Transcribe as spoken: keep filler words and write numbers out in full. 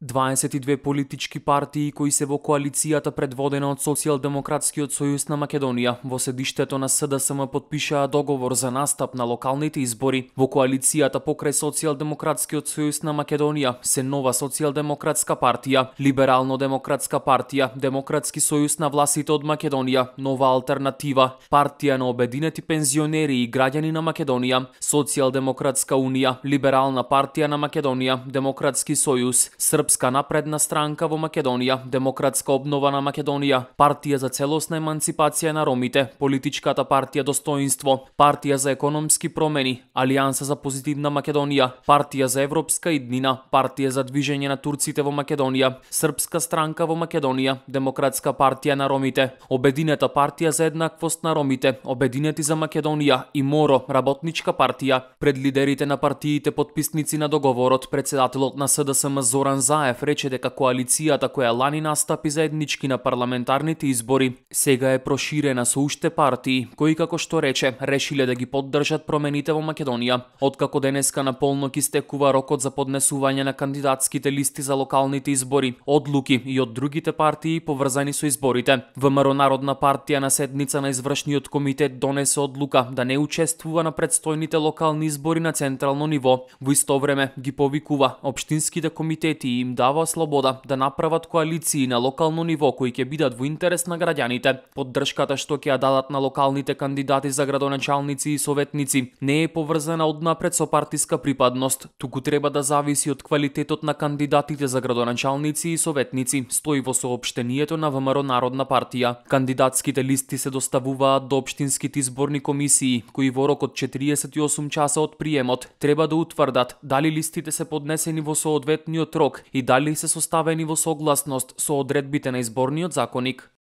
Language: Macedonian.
дваесет и две политички партии кои се во коалицијата предводена од Социјалдемократскиот сојуз на Македонија во седиштето на С Д С М потпишаа договор за настап на локалните избори. Во коалицијата покрај Социјалдемократскиот сојуз на Македонија се Нова социјалдемократска партија, Либерално-демократска партија, Демократски сојуз на властите од Македонија, Нова алтернатива, Партија на обединети пензионери и граѓани на Македонија, Социјалдемократска унија, Либерална партија на Македонија, Демократски сојуз, Српска напредна странка во Македонија, Демократска обнова на Македонија, Партија за целосна еманципација на ромите, Политичката партија Достоинство, Партија за економски промени, Алијанса за позитивна Македонија, Партија за европска иднина, Партија за движење на турците во Македонија, Српска странка во Македонија, Демократска партија на ромите, Обединета партија за еднаквост на ромите, Обединети за Македонија и МОРО, Работничка партија. Пред лидерите на партиите потписници на договорот, председателот на С Д С М Зоран Заев рече дека коалицијата која лани настапи заеднички на парламентарните избори сега е проширена со уште партии кои, како што рече, решиле да ги поддржат промените во Македонија. Откако денеска на полнок истекува рокот за поднесување на кандидатските листи за локалните избори, одлуки и од другите партии поврзани со изборите. ВМРО Народна партија на седница на извршниот комитет донесе одлука да не учествува на предстојните локални избори на централно ниво. Во исто време ги повикува општинските комитети и им дава слобода да направат коалиции на локално ниво кои ќе бидат во интерес на граѓаните. Поддршката што ќе ја дадат на локалните кандидати за градоначалници и советници не е поврзана однапред со партиска припадност, туку треба да зависи од квалитетот на кандидатите за градоначалници и советници, стои во соопштението на ВМРО Народна партија. Кандидатските листи се доставуваат до општинските изборни комисии, кои во рок од четириесет и осум часа од приемот треба да утврдат дали листите се поднесени во соодветниот рок и дали се составени во согласност со одредбите на изборниот законник.